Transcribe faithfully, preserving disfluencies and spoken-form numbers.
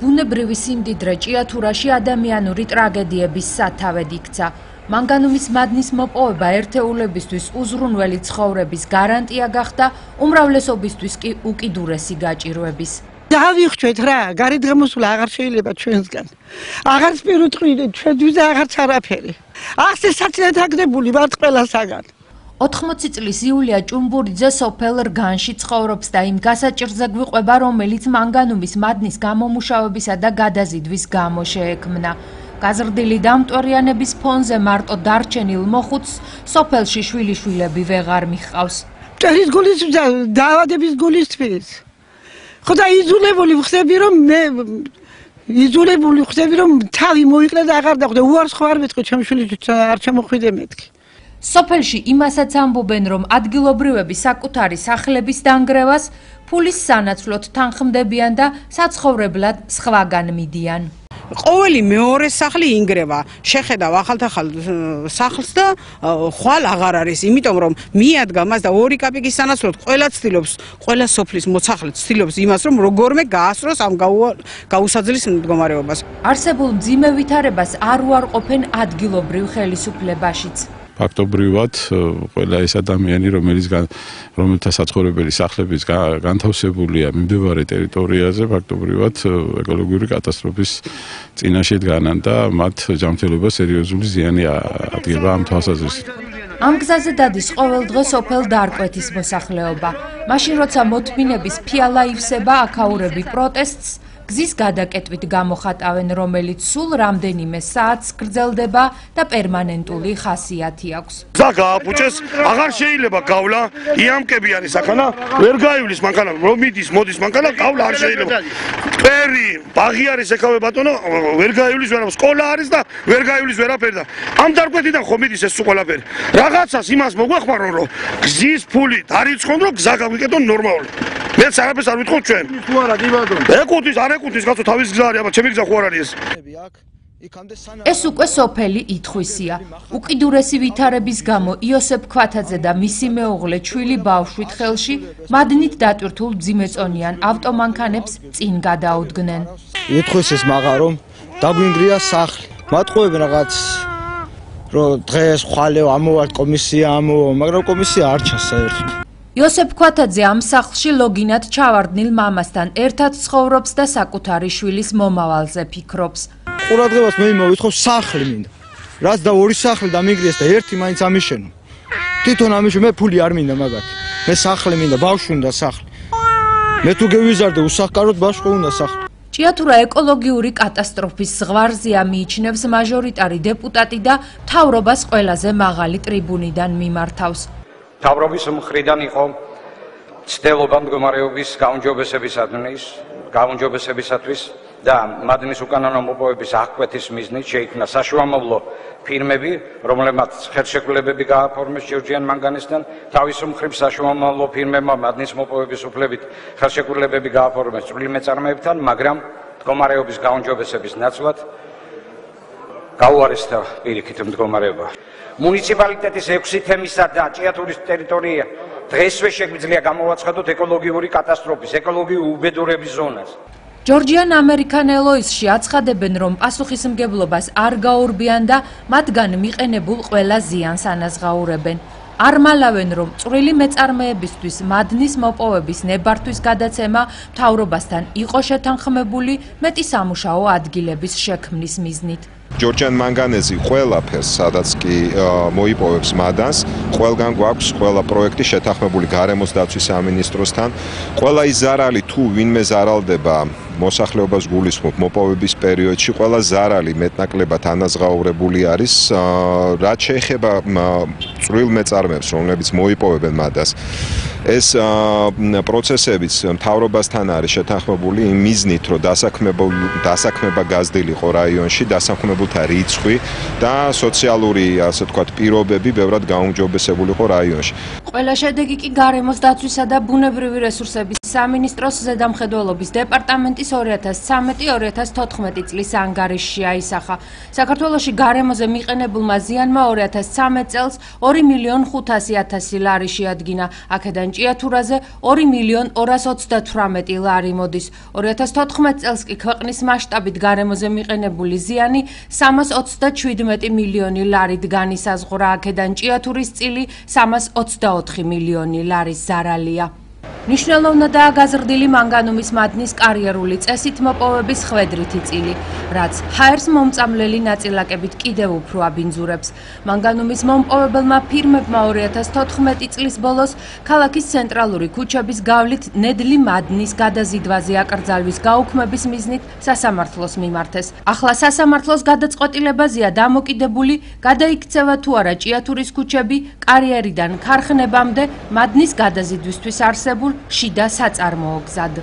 ბუნებრივი სიმდიდრე ჭიათურაში ადამიანური ტრაგედიების სათავედ იქცა. მანგანუმის მადნის მოპოვება ერთეულებისთვის უზრუნველი ცხოვრების გარანტია გახდა, უმრავლესობისთვის კი უკიდურესი გაჭირვების. დავიხჩეთ რა, გარეთ გამოსვლა აღარ შეიძლება ჩვენსგან. აღარც პირუტყვი ჩვენთვის აღარც არაფერი. ახსე საცილად აგდებული ვართ ყველასაგან. ოთხმოცი წლის იულია ჭუმბურიძე სოფელ რგანში ცხოვრობს და იმ გასაჭირზე გვიყვება, რომელიც მანგანუმის მადნის გამომუშავებისა და გადაზიდვის გამო შეექმნა. გაზრდილი დამტვერიანების ფონზე მარტო დარჩენილ მოხუცს სოფელში შვილიშვილები ვეღარ მიჰყავს. მტერის გულის დაავადების გულისთვის. ხო და იზოლებული ხდები რომ მე იზოლებული ხდები რომ თავი მოიყრა და აღარ დახვდა. უარს ხო არ მეთქი ჩემ შვილიშვილს არ ჩამოხვიდე მეთქი. სოფელში იმასაც ამბობენ, რომ ადგილობრივები საკუთარი სახლების დანგრევას ფულის სანაცვლოდ თანხმდებიან და საცხოვრებლად სხვაგან მიდიან. ყოველი მეორე სახლი ინგრევა. შეხედავ ახალ-ახალ სახლს და ხვალ აღარ არის, იმიტომ რომ მიადგა მას და ორი კაპიკის სანაცვლოდ ყველა ცდილობს, ყველა სოფლის მოხალე ცდილობს იმას, რომ როგორმე გაასწროს ამ გაუსაძლის მდგომარეობას. არსებულ მძიმე ვითარებას არ უარყოფენ ადგილობრივ ხელისუფლებაშიც. ფაქტობრივად ყველა ეს ადამიანი, რომელიც რომელთა საცხოვრებელი სახლებიც განთავსებულია მიმდებარე ტერიტორიაზე, ფაქტობრივად ეკოლოგიური კატასტროფის წინაშე დგანან და მათ ჯანმრთელობას სერიოზული ზიანი ადგენდა ამ თვალსაზრისით. ამ გზაზე დადის ყოველ დღე სოფელ დარკვეთის მოსახლეობა. მაშინ როცა მოთმინების ფიალა ივსება, აქაურები პროტესტს გზის გადაკეტვით გამოხატავენ, რომელიც სულ რამდენიმე საათს გრძელდება და პერმანენტული ხასიათი აქვს. გზა გააფუჭეს, აღარ შეიძლება გავლა, იამკებიანი საქანა, ვერ გაივლის მანქანა, რომ მიდის, მოდის მანქანა, გავლა არ შეიძლება. მტერი, ბაღი არის ეკავე ბატონო, ვერ გაივლის ვერა, სკოლა არის და ვერ გაივლის ვერაფერი და ამ დარკვეთიდან ხო მიდის ეს ყველაფერი. რაღაცას იმას მოგვეხმარო, რომ გზის ფული დარიცხონ, რომ გზა გავიკეთონ ნორმალურად. მეც არაფერს არ ვიტყოდ ჩვენ. თუ არა კი ბატონო. ეკუთვნის, არ ეკუთვნის, კაცო თავის გზა არის, აბა ჩემი გზა ხო არ არის ეს. ეს უკვე სოფელი ითხვისია. უკიდურესი ვითარების გამო იოსებ ქვათაძე და მისი მეუღლე ჩვილი ბავშვით ხელში მადნით დატვირთულ მძიმეწონიან ავტომანქანებს წინ გადაუდგნენ. ითხვისეს მაგა რომ დაგვინგრია სახლი. მათხოვებენ რაღაც რომ დღეს ხვალე ამოვართ კომისია ამოვა, მაგრამ კომისია არ ჩანს საერთოდ. იოსებ ქვათაძე ამ სახლში ლოგინად ჩავარდნილ მამასთან ერთად ცხოვრობს და საკუთარი შვილის მომავალზე ფიქრობს. ყურადღებას მე მოვითხოვ სახლი მინდა. რაც და ორი სახლი დამიგრიეს და ერთი მაინც ამიშენო. თვითონ ამიშენო, მე ფული არ მინდა მაგათი. მე სახლი მინდა, ბავშვი უნდა სახლი. მე თუ გევიზარდე უსახკაროდ ბავშვი უნდა სახლი. ჭიათურა ეკოლოგიური კატასტროფის ზღვარზეა მიიჩნევს მაჟორიტარი დეპუტატი და მთავრობას ყველაზე მაღალი ტრიბუნიდან მიმართავს. მთავრობის მხრიდან იყო ცდილობა მდგომარეობის გაუმჯობესებისათვის, გაუმჯობესებისათვის და მადნის უკანონო მოპოვების აღკვეთის მიზნით შეიქმნა საშუალომლო ფირმები, რომლებმაც ხელშეკრულებები გააფორმეს ჯორჯიან მანგანისთან. თავის მხრივ საშუალომლო ფირმებმა მადნის მოპოვების უფლებით ხელშეკრულებები გააფორმეს წვრილმეწარმეებთან, მაგრამ მდგომარეობის გაუმჯობესების ნაცვლად გაუარესდა პირიქით მდგომარეობა. მუნიციპალიტეტის ექვსი თემისა და ჭიათურის ტერიტორია დღესვე შეგვიძლია გამოვაცხადოთ ეკოლოგიური კატასტროფის, ეკოლოგიური უბედურების ზონას. ჯორჯიან ამერიკან ელოისში აცხადებენ, რომ პასუხისმგებლობას არ გაურბიან და მათგან მიყენებულ ყველა ზიანს ანაზღაურებენ. არ მალავენ, რომ წვრილი მეწარმეებისთვის მადნის მოპოვების ნებართვის გადაცემა მთავრობასთან იყო შეთანხმებული მეტი სამუშაო ადგილების შექმნის მიზნით. ჯორჯიან მანგანეზი ყველაფერს, სადაც კი მოიპოვებს მადანს, ყველგან გვაქვს ყველა პროექტი შეთანხმებული გარემოს დაცვის სამინისტროსთან. ყველა ის ზარალი თუ ვინმე ზარალდება მოსახლეობას გულისხმობ მოპოვების პერიოდში, ყველა ზარალი მეტნაკლებად ანაზღაურებული არის, რაც შეეხება წვრილ მეწარმეებს, რომლებიც მოიპოვებენ მადანს. ეს პროცესებიც მთავრობასთან არის შეთანხმებული იმ მიზნით, რომ დასაქმება გაზრდილიყო რაიონში, დასაქმებულთა რიცხვი და სოციალური, ასე ვთქვათ, პირობები ბევრად გაუმჯობესებულიყო რაიონში. ყველა შედეგი კი გარემოს დაცვისა და ბუნებრივი რესურსების სამინისტროს ზედამხედველობის დეპარტამენტის ორი ათას ცხრამეტი ორი ათას თოთხმეტი წლის ანგარიშში აისახა. საქართველოში გარემოზე მიყენებულმა ზიანმა ორი ათას ცხრამეტ წელს ორი მილიონი ხუთასი ათასი ლარი შეადგინა. აქედან ჭიათურაზე ორი მილიონ ორას ოცდათვრამეტი ლარი მოდის. ორი ათას თოთხმეტ წელს კი ქვეყნის მასშტაბით გარემოზე მიყენებული ზიანი სამას ოცდაჩვიდმეტი მილიონი ლარით განისაზღვრა, აქედან ჭიათურის წილი სამას ოცდაოთხი მილიონი ლარის ზარალია. მნიშვნელოვნადაა გაზრდილი მანგანუმის მადნის კარიერული წესით მოპოვების ხვედრითი წილი, რაც ჰაერს მომწამლელი ნაწილაკებით კიდევ უფრო აბინძურებს. მანგანუმის მომპოვებელმა ფირმებმა ორი ათას თოთხმეტი წლის ბოლოს ქალაქის ცენტრალური ქუჩების გავლით ნედლი მადნის გადაზიდვაზე აკრძალვის გაუქმების მიზნით სასამართლოს მიმართეს. ახლა სასამართლოს გადაწყვეტილებაზეა დამოკიდებული, გადაიქცევა თუ არა ჭიათურის ქუჩები კარიერიდან ქარხნებამდე მადნის გადაზიდვისთვის არსებულ შიდა საწარმოო გზად.